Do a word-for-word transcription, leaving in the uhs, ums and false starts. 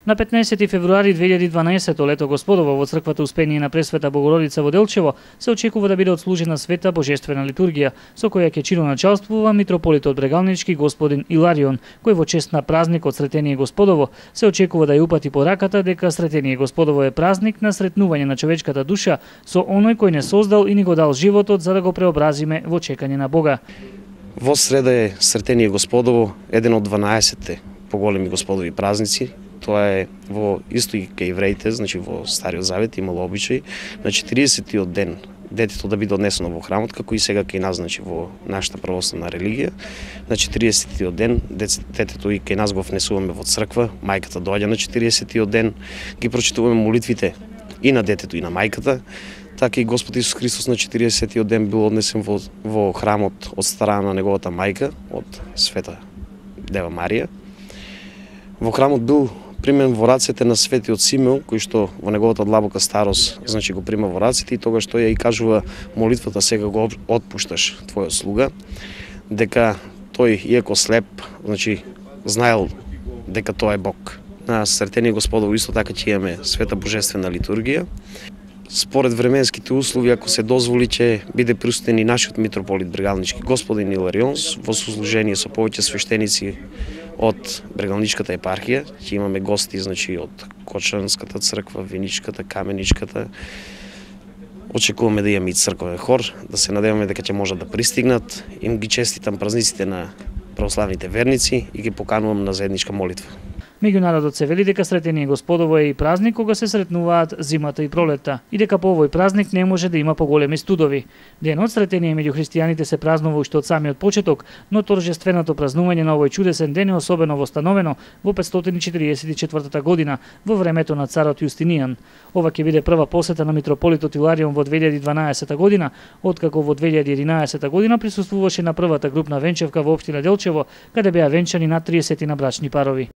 На петнаесети февруари две илјади и дванаесетто лето Господово во црквата Успение на Пресвета Богородица во Делчево се очекува да биде отслужена света божествена литургија, со која ќе чиноначалствува митрополитот Брегалнички господин Иларион, кој во чест на празникот Сретение Господово се очекува да ја упати пораката дека Сретение Господово е празник на сретнување на човечката душа со оној кој не создал и ни го дал животот за да го преобразиме во чекање на Бога. Во среда е Сретение Господово, еден од дванаесетте поголеми Господови празници. Тоа е во исто и кај евреите, значи во Стариот Завет имало обичај на четиридесетиот ден детето да биде однесено во храмот, како и сега кај нас, значи во нашата православна религија. На четиридесетиот ден детето и кај нас го внесуваме во црква, мајката доаѓа на четиридесетиот ден, ги прочитуваме молитвите и на детето и на мајката. Така и Господ Исус Христос на четиридесетиот ден бил однесен во, во храмот од страна на неговата мајка, од Света Дева Марија. Во храмот бил примен во рацете на светиот Симеон, кој што во неговата длабока старост, значи го прима во рацете и тогаш тој ја и кажува молитвата сега го отпушташ твојот слуга, дека тој иако слеп, значи знаел дека тоа е Бог. На Сретение Господово исто така ќе имаме света божествена литургија. Според временските услови, ако се дозволи, ќе биде присутен и нашиот митрополит Брегалнички господин Иларион во сослужение со повеќе свештеници од Брегалничката епархија. Ќе имаме гости, значи од Кочанската црква, Виничката, Каменичката. Очекуваме да имаме и црковен хор, да се надеваме дека ќе можат да пристигнат. Им ги честитам празниците на православните верници и ги поканувам на заедничка молитва. Меѓу народот се вели дека Сретение Господово е и празник кога се сретнуваат зимата и пролетта и дека по овој празник не може да има поголеми студови. Денот Сретение меѓу христијаните се празнува уште од самиот почеток, но торжественото празнување на овој чудесен ден е особено востановено во петстотини и четиридесет и четвртата година во времето на царот Јустинијан. Ова ќе биде прва посета на митрополитот Иларион во две илјади и дванаесетта година, откако во две илјади и единаесетта година присуствуваше на првата групна венчевка во општина Делчево, каде беа венчани над триесет брачни парови.